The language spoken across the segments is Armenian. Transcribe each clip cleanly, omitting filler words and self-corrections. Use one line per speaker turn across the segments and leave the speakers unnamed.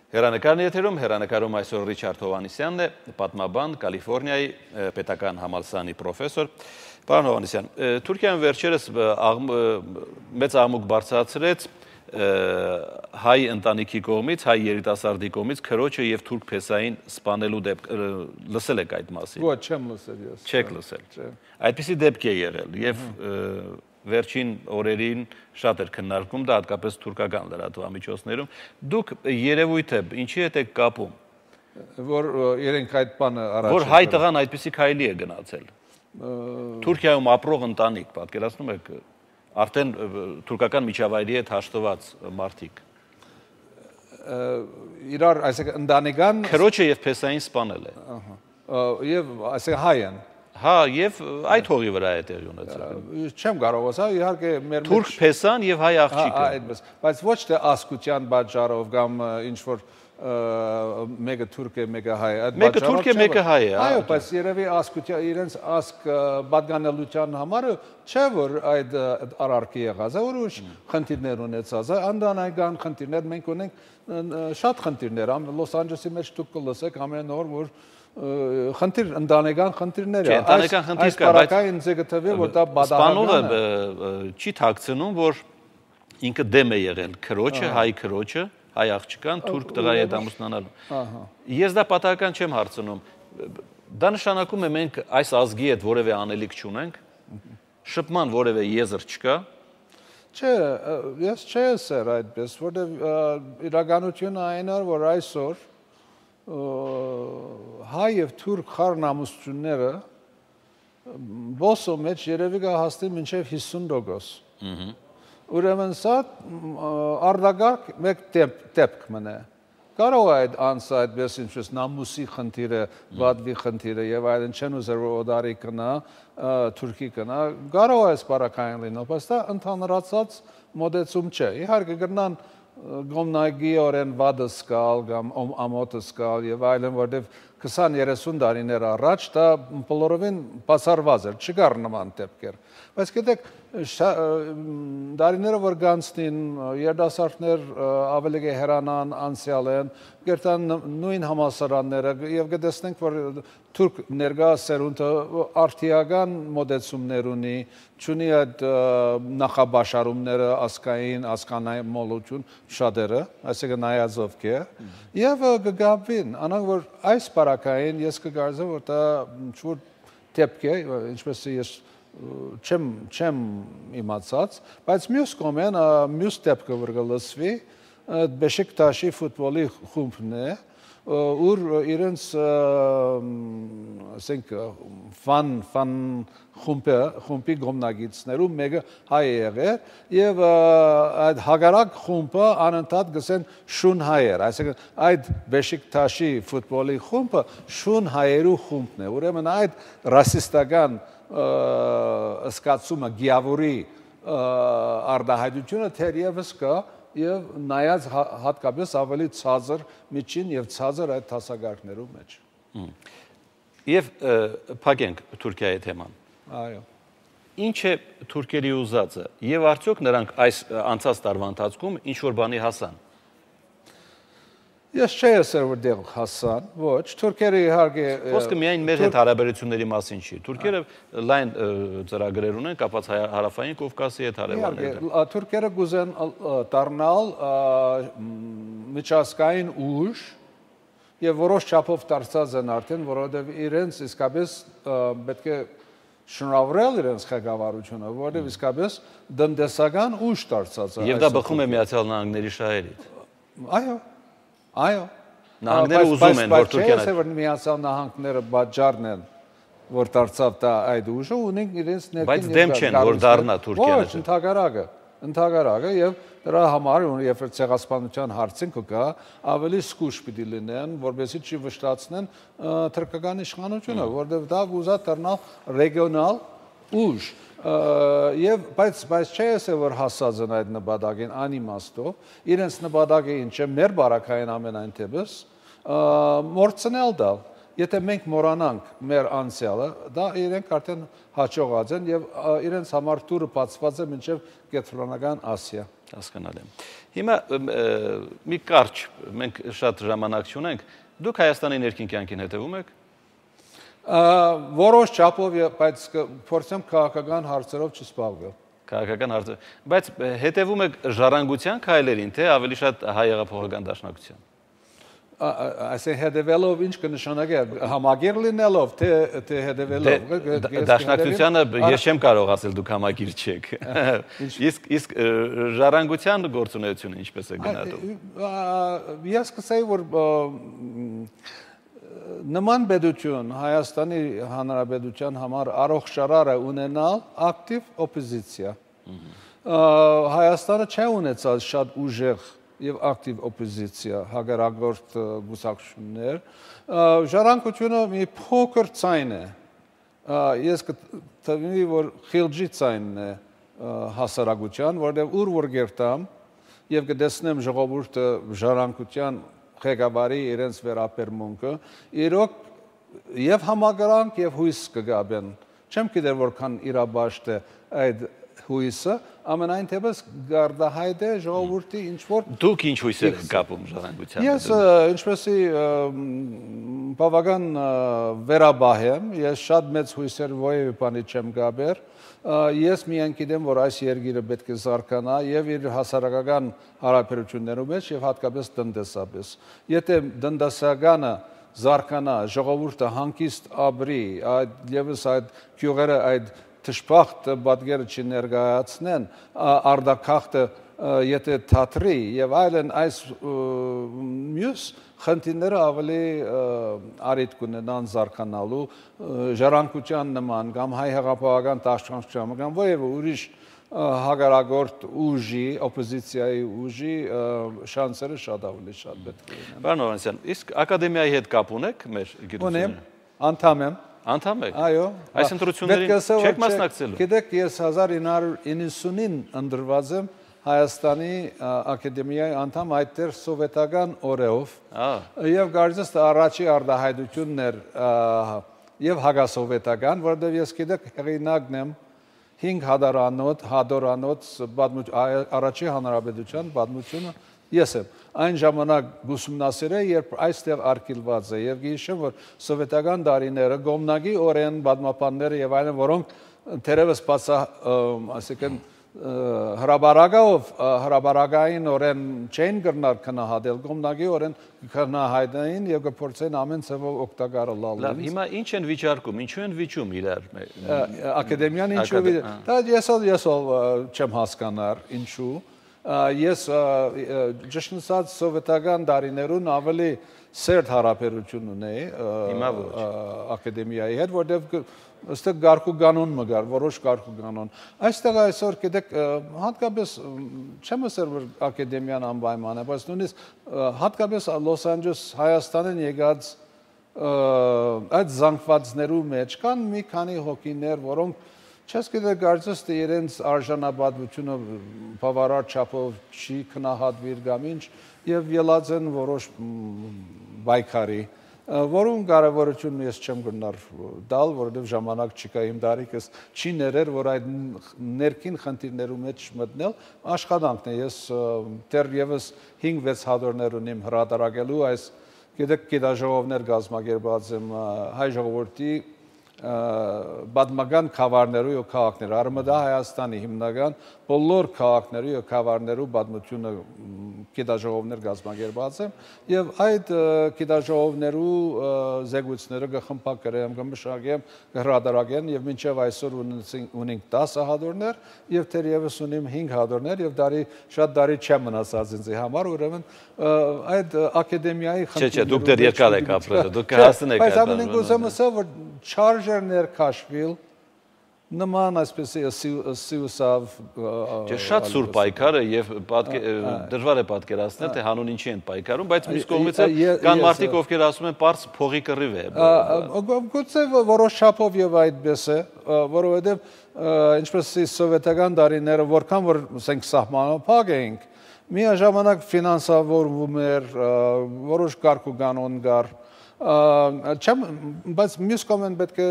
Հեռանկարն եթերում, հեռանկարում այսօր Ռիչարդ Հովհաննիսյանն է, պատմաբան, Կալիֆորնիայի պետական համալսարանի պրոֆեսոր։ Պարոն Հովհաննիսյան, Թուրքիան վերջերս մեծ աղմուկ բարձրացրեց հայ ընտանիքի կողմից, հայ երիտասարդի կողմից քրոջը եւ թուրք փեսային սպանելու դեպք լսել եք այդ մասին։
Ոչ, չեմ լսել ես։
Չեք լսել։ Այդպիսի դեպք է եղել եւ վերջին օրերին շատ էր քննարկում դա հատկապես թուրքական լրատվամիջոցներում։ Դուք երևույթ է, ինչի հետ եք կապում։
Որ իրենք այդ բանը առաջ
որ հայ տղան այդպիսի քայլի է գնացել։ Թուրքիայում ապրող ընտանիք, պատկերացնում եք, արդեն թուրքական միջավայրի հետ հաշտված մարդիկ։
Իրար, այսինքն ընտանեկան
քրոջը եւ փեսային սպանել է։
Եվ այսինքն հայ են։
Հա, եւ այդ հողի վրա է տեղի ունեցել։
Չեմ կարող ասել, իհարկե մեր
թուրք փեսան եւ հայ աղջիկը։
Այդպես, բայց ոչ թե ասկության պատճառով կամ ինչ որ մեկը թուրք է, մեկը հայ է։
Մեկը թուրք է, մեկը հայ է։
Այո, բայց երևի ասկության իրենց ասկ պատկանելության համար չէ որ այդ արարքի եղած է, որ ուշ խնդիրներ ունեցած է, անդանայգան խնդիրներ մենք ունենք շատ խնդիրներ, Լոս Անջելեսի մեջ դուք կլսեք ամեն օր որ խնդիր ընտանեկան խնդիրներ է։
Ընտանեկան խնդիր կա, բայց
ինձ է գտվել որ դա
բադահական է։ Սպանողը չի թաքցնում, որ ինքը դեմ է եղել քրոջը, հայ քրոջը, հայ աղջկան թուրք տղայի հետ ամուսնանալու։ Ես դա պատահական չեմ հարցնում։ Դա նշանակում է մենք այս ազգի հետ որևէ անելիք չունենք, շփման որևէ եզր չկա։
Չէ, ես չէ սեր այդպես, որտեղ իրականությունը այն է, որ այսօր հայ եւ թուրք խառնամուսությունները ոսո մեջ երևի կհասնի մինչեւ 50%։ Ուրեմն սա արդագարգ մեկ դեպք մնա։ Կարող է այդ անձը այդպես ինչպես նամուսի խնդիրը, վադվի խնդիրը եւ այլն չեն ուզեր որ օդարի կնա, թուրքի կնա, կարող է սպառակային լինել, բայց դա ընդհանրացած մոդեցում չէ։ Իհարկե կգնան գոմնագիորեն վադը սկալ կամ ամոտը սկալ եւ այլն, որտեվ 20-30 տարիներ առաջ դա բոլորովին բացառված էր, չկար նման դեպքեր։ Բայց գիտեք, դարիները որ գանցնին, երիտասարդներ ավելի հեռանան անցյալ են, գերտան նույն համալսարանները եւ կտեսնենք, որ թուրք ներկա սերունդը արդիական մոդեցումներ ունի, չունի այդ նախաբաշարումները ասկային, ասկանային մոլություն շատերը, այսինքն նայածով կե, եւ կգաբին, անանք որ այս բարակային ես կգարձեմ, որ դա ինչ-որ դեպք է, ինչպես ես չեմ իմացած, բայց մյուս կողմեն, մյուս դեպքը որ կլսվի, Բեշիկտաշի ֆուտբոլի խումբն է, ուր իրենց ասենք ֆան խումբի գոմնագիցներում մեկը հայ է եղել եւ այդ հագարակ խումբը անընդհատ գսեն շուն հայեր, այսինքն այդ Բեշիկտաշի ֆուտբոլի խումբը շուն հայերու խումբն է, ուրեմն այդ ռասիստական սկացումը գիավորի արդահայտությունը թերևս կա եւ նայած հատկապես ավելի ցածր միջին եւ ցածր այդ հասարակներու մեջ։
Եվ փակենք Թուրքիայի թեման։
Այո։
Ինչ է թուրքերի ուզածը եւ արդյոք նրանք այս անցած տարվա ընթացքում ինչ որ բանի հասան։
Ես չէ ասել որ դեռ հասան, ոչ, թուրքերը իհարկե
Խոսքը միայն մեր հետ հարաբերությունների մասին չի։ Թուրքերը լայն ծրագրեր ունեն կապված հարավային Կովկասի հետ հարաբերությունները։
Թուրքերը կուզեն դառնալ միջազգային ուժ եւ որոշ չափով դարձած են արդեն, որովհետեւ իրենց իսկապես պետք է շնորհավորել իրենց ղեկավարությունը, որովհետեւ իսկապես տնտեսական ուժ դարձած է։
Եվ դա բխում է Միացյալ Նահանգների շահերից։
Այո։ Այո,
նահանգները ուզում են, որ Թուրքիան
չէ, որ Միացյալ Նահանգները բաժարն են, որ դարձավ դա այդ ուժը, ունենք իրենց ներքին։
Բայց դեմ չեն, որ դառնա Թուրքիան։
Ոչ, ընդհակարակը եւ դրա համար երբ ցեղասպանության հարցին կգա, ավելի զգուշ պիտի լինեն, որովհետեւ չի վշտացնեն թուրքական իշխանությունը, որովհետեւ դա կուզա դառնալ ռեգիոնալ ուժ։ Եվ բայց չէ ասել որ հասած են այդ նպատակին անիմաստով, իրենց նպատակը ինչ է մեր բարակային ամենայն դեպս մորցնել դա։ Եթե մենք մոռանանք մեր անցյալը, դա իրենք արդեն հաջողած են եւ իրենց համար տուրը բացված է մինչեւ կենտրոնական Ասիա։
Հասկանալի է։ Հիմա մի կարճ, մենք շատ ժամանակ չունենք, դուք Հայաստանի ներքին կյանքին հետևում եք։
Որոշ չափով, բայց փորձեմ քաղաքական հարցերով չզբաղվել։
Քաղաքական հարցեր, բայց հետևում եք ժառանգության քայլերին, թե ավելի շատ հայ հեղափոխական դաշնակցության։
Այսինքն հետևելով ինչ կնշանակի համագիր լինելով թե հետևելով
դաշնակցությանը ես չեմ կարող ասել դուք համագիր չեք իսկ ժառանգության գործունեությունը ինչպես է գնահատում
ես կսեի որ նման պետություն Հայաստանի Հանրապետության համար առողջարար է ունենալ ակտիվ օպոզիցիա Հայաստանը չի ունեցած շատ ուժեղ եւ ակտիվ օպոզիցիա հագարագործ գուսակցություններ ժառանգությունը մի փոքր ցայն է ես կտվի որ խիլջի ցայնն է հասարակության որտեղ ուր որ գերտամ եւ կտեսնեմ ժողովուրդը ժառանգության ղեկավարի իրենց վերաբերմունքը իրոք եւ համագրանք եւ հույս կգաբեն չեմ գիտեր որքան իրաբաշտ է այդ հույսը ամենայն թեպս գարդահայտ է ժողովրդի ինչ որ
դուք ինչ հույս եք կապում ժառանգության
ես ինչպեսի բավական վերաբահ եմ ես շատ մեծ հույսեր որևէ բանի չեմ գաբեր ես միայն գիտեմ որ այս երկիրը պետք է զարգանա եւ իր հասարակական հարաբերություններում մեջ եւ հատկապես տնտեսապես եթե տնտեսականը զարգանա ժողովուրդը հանգիստ ապրի եւս այդ գյուղերը այդ Թշպախտ պատկերը չներկայացնեն, արդակախտը եթե թատրի եւ այլն այս մյուս խնդիրները ավելի արիտ կունենան զարգանալու ժառանգության նման կամ հայ հեղափոխական դաշնակցության կամ որևէ ուրիշ հագարագործ ուժի, օպոզիցիայի ուժի շանսերը շատ ավելի շատ պետք է լինեն։
Պարոն Հովհաննիսյան, իսկ ակադեմիայի հետ կապ ունեք մեր գիտությունները։
Անդամ եմ։
Անդամ եք։
Այո։
Այս ընտրություններին չեք մասնակցելու։
Գիտեք, ես 1990-ին ընտրված եմ Հայաստանի ակադեմիայի անդամ այդտեղ սովետական օրերով։ Եվ կարծես թե առաջի արտահայտությունն էր եւ հագասովետական, որովհետեւ ես գիտեք հեղինակն եմ 5 հադորանոց առաջի հանրապետության պատմությունը ես եմ այն ժամանակ ուսումնասիրել երբ այստեղ արկելված է եւ գիշեմ որ սովետական դարիները գոմնագի օրեն պատմապանները եւ այլն որոնք թերևս ասիկեն հրաբարագային օրեն չեն գրնար քնահատել գոմնագի օրեն քնահայտային եւ կփորձեն ամեն ցավով օգտակարել
լավ հիմա ինչ են վիճարկում ինչու են վիճում իրար
ակադեմիան ինչու դա ես չեմ հասկանար ինչու ես ճիշտ ասած սովետական դարիներուն ավելի սերտ հարաբերություն ունեի ակադեմիայի հետ որտեղ ըստ գարկու կանոն մգար որոշ գարկու կանոն այստեղ այսօր գիտեք հատկապես չեմ ասել որ ակադեմիան անպայման է բայց նույնիսկ հատկապես Լոս Անջելես Հայաստանին եկած այդ զանգվածներու մեջ կան մի քանի հոգիներ որոնք Չես գիտեք կարծես թե իրենց արժանապատվությունը բավարար չափով չի քնահատվիր կամ ինչ եւ ելած են որոշ բայկարի որուն կարևորություն ես չեմ գնար դալ որովհետեւ ժամանակ չկա իմ դարիքս չի ներեր որ այդ ներքին խնդիրներու մեջ մտնել աշխատանքն է ես դեռևս 5-6 հատորներ ունիմ հրատարակելու այս գիտեք գիտաժողովներ կազմակերպած եմ հայ ժողովրդի Բադմագան քավարներու եւ քաղաքներ Արմադա Հայաստանի հիմնական բոլոր քաղաքներու եւ քավարներու բադմությունը գիտաժողովներ կազմակերպած են եւ այդ գիտաժողովներու զեկույցները կխմբագրեմ կմշակեմ կհրատարակեն եւ մինչեւ այսօր ունենք 10 հատորներ եւ թերևս ունիմ 5 հատորներ եւ դարի շատ դարի չեմ մնացած ինձ համար ուրեմն այդ ակադեմիայի
Չէ, դուք դեռ երկար եք ապրել դուք հասնեք
բայց ամենին կուզեմ ասել որ չարժերներ քաշվիլ նման այսպես սիուսավ
շատ սուր պայքարը եւ դժվար է պատկերացնել թե հանուն ինչի են պայքարում բայց մյուս կողմից կան մարդիկ ովքեր ասում են պարզ փողի կռիվ է
գուցե որոշ չափով եւ այդպես է որովհետեւ ինչպես սովետական դարիները որքան որ ասենք սահմանափակ էինք միաժամանակ ֆինանսավորվում էր որոշ կարգ ու կանոն կար բայց մյուս կողմեն պետք է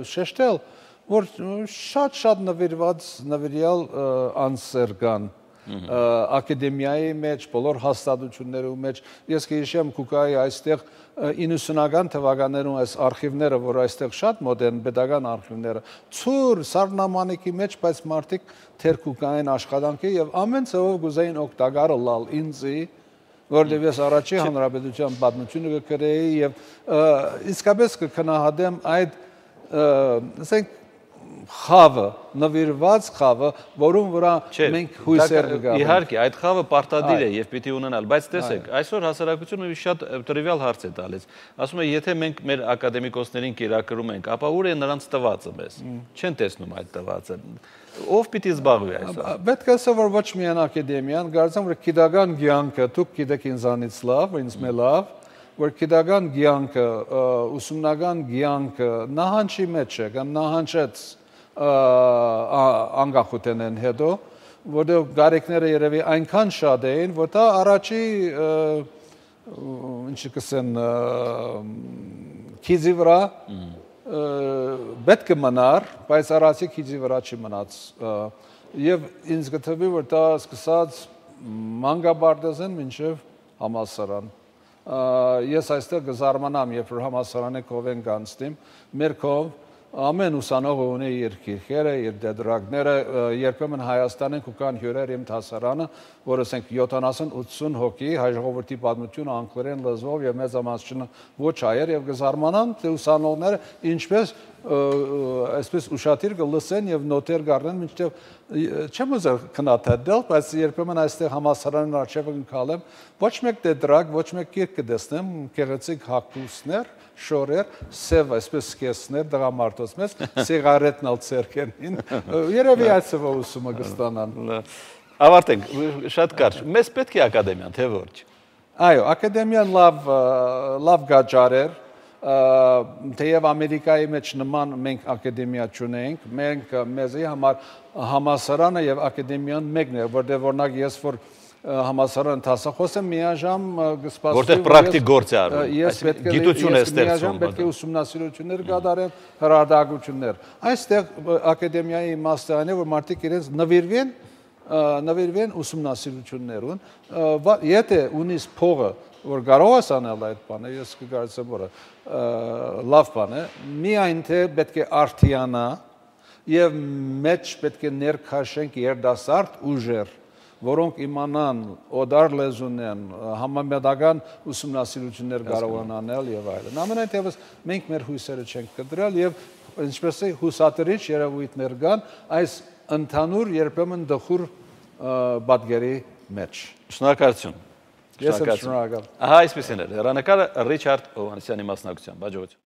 շեշտել որ շատ նվիրված նվիրյալ անձեր կան ակադեմիայի մեջ, բոլոր հաստատություններում մեջ։ Ես կհիշեմ Կուկայի այստեղ 90-ական թվականներում այս արխիվները, որ այստեղ շատ մոդեռն pedagogan արխիվները, ծուր սառնամանիքի մեջ, բայց մարդիկ թեր Կուկային աշխատանքի եւ ամեն ծովով գուզեին օգտակարը լալ ինձի, որտեղ ես առաջի հանրապետության պատմությունը կգրեի եւ իսկապես կքնահատեմ այդ ասենք խավը, նվիրված խավը, որում վրա մենք հույսեր կգանք։
Իհարկե, այդ խավը պարտադիր է եւ պիտի ունենալ, բայց տեսեք, այսօր հասարակությունը շատ տրիվիալ հարց է տալիս։ Ասում է, եթե մենք մեր ակադեմիկոսներին կերակրում ենք, ապա ուր է նրանց տվածը մեզ։ Չեն տեսնում այդ տվածը։ Ով պիտի զբաղվի այսօր։
Պետք է ասել, որ ոչ միայն ակադեմիան, կարծեմ, որ գիտական կյանքը, դուք գիտեք ինձանից լավ, ինձ մե լավ, որ գիտական կյանքը, ուսումնական կյանքը նահանջի մեջ է, կամ նահանջեց անկախութենեն հետո, որտեղ գարեքները երևի այնքան շատ էին, որ դա առաջի ինչի կսեն քիզի վրա պետք է մնար, բայց առաջի քիզի վրա չի մնաց եւ ինձ գտվի որ դա սկսած մանկաբարձեն մինչեւ համալսարան ես այստեղ կզարմանամ երբ որ համալսարանի կողեն կանցնեմ մեր կողմ ամեն ուսանողը ունի իր քիրքերը, իր դեդրակները, երբեմն Հայաստանեն կան հյուրեր իմ դասարանը, որ ասենք 70-80 հոգի հայ ժողովրդի պատմությունը անգլերեն լեզվով եւ մեծամասնությունը ոչ հայեր եւ կզարմանան թե ուսանողները ինչպես այսպես ուշադիր կլսեն եւ նոտեր կառնեն մինչեւ չեմ ուզել քննադատել, բայց երբեմն այստեղ համալսարանին արժեվը կգալեմ, ոչ մեկ դեդրակ, ոչ մեկ քիրք կդեսնեմ, գեղեցիկ հագուստներ շորեր, սև այսպես սկեսներ դրամարտոց մեզ, սիգարետն ալ ցերքենին, երևի այսօր ուսումը կստանան։
Ավարտենք, շատ կարճ, մեզ պետք է ակադեմիան, թե ոչ։
Այո, ակադեմիան լավ գաճար էր, թեև Ամերիկայի մեջ նման մենք ակադեմիա չունենք, մենք մեզի համար համալսարանը եւ ակադեմիան մեկն է, որտեղ օրինակ ես որ համալսարան դասախոսեմ միաժամ կսպասվի
որտեղ պրակտիկ գործ է արվում գիտություն է ստեղծվում
պետք է ուսումնասիրություններ կատարեն հրադակություններ այստեղ ակադեմիայի իմաստն է որ մարդիկ իրենց նվիրվեն ուսումնասիրություններուն եթե ունիս փողը որ կարող ես անել այդ բանը ես կգարցեմ որ լավ բան է միայն թե պետք է արդիանա եւ մեջ պետք է ներքաշենք երդասարդ ուժեր որոնք իմանան օդար լեզունեն, համամետական ուսումնասիրություններ կարողան անել եւ այլն։ Ամենայնտեղս մենք մեր հույսերը չենք կտրել եւ ինչպես է հուսատրիչ երևույթներ կան այս ընդհանուր երբեմն դխուր պատկերի մեջ։
Շնորհակալություն։
Ես եմ շնորհակալ։
Ահա այսպեսին էր հեռանկարը Ռիչարդ Հովհաննիսյանի մասնակցությամբ։ Հաջողություն։